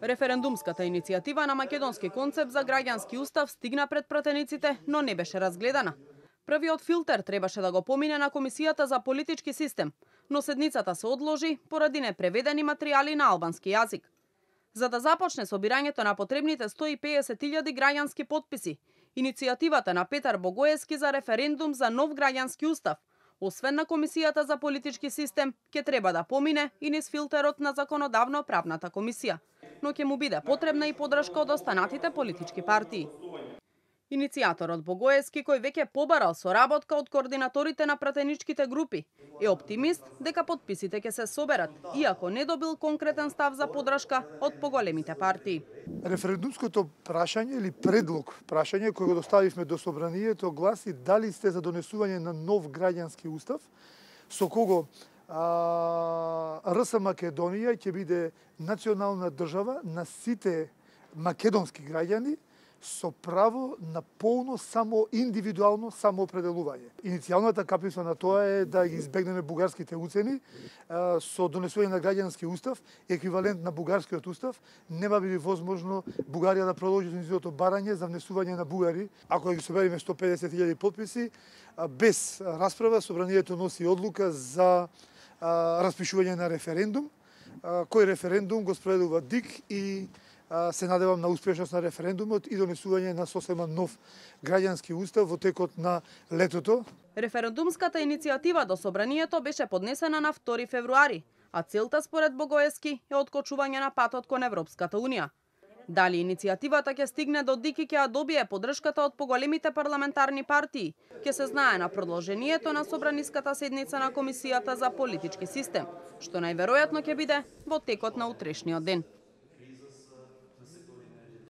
Референдумската иницијатива на македонски концепт за граѓански устав стигна пред пратениците, но не беше разгледана. Првиот филтер требаше да го помине на Комисијата за политички систем, но седницата се одложи поради непреведени материјали на албански јазик. За да започне собирањето на потребните 150.000 граѓански потписи, иницијативата на Петар Богоевски за референдум за нов граѓански устав, освен на Комисијата за политички систем, ќе треба да помине и низ филтерот на законодавно-правната комисија, но ќе му биде потребна и подршка од останатите политички партии. Иницијаторот Богоевски, кој веќе побарал соработка од координаторите на пратеничките групи, е оптимист дека потписите ќе се соберат, иако не добил конкретен став за подршка од поголемите партии. Референдумското прашање или предлог прашање кој го доставивме до собранието гласи дали сте за донесување на нов граѓански устав со кого РС Македонија ќе биде национална држава на сите македонски граѓани со право на полно само индивидуално самоопределување. Иницијалната каприца на тоа е да ги избегнеме бугарските уцени со донесување на граѓански устав, еквивалент на бугарскиот устав, нема биде возможно Бугарија да продолжи низиното барање за внесување на бугари. Ако ги собериме 150.000 потписи, без расправа собранието носи одлука за распишување на референдум, кој референдум го спроведува ДИК и се надевам на успешност на референдумот и донесување на сосема нов граѓански устав во текот на летото. Референдумската иницијатива до собранието беше поднесена на 2 февруари, а целта според Богоевски е откочување на патот кон Европската унија. Дали иницијативата ќе стигне до ДИК и ќе ја добие поддршката од поголемите парламентарни партии, ќе се знае на продолжението на собраниската седница на Комисијата за политички систем, што најверојатно ќе биде во текот на утрешниот ден.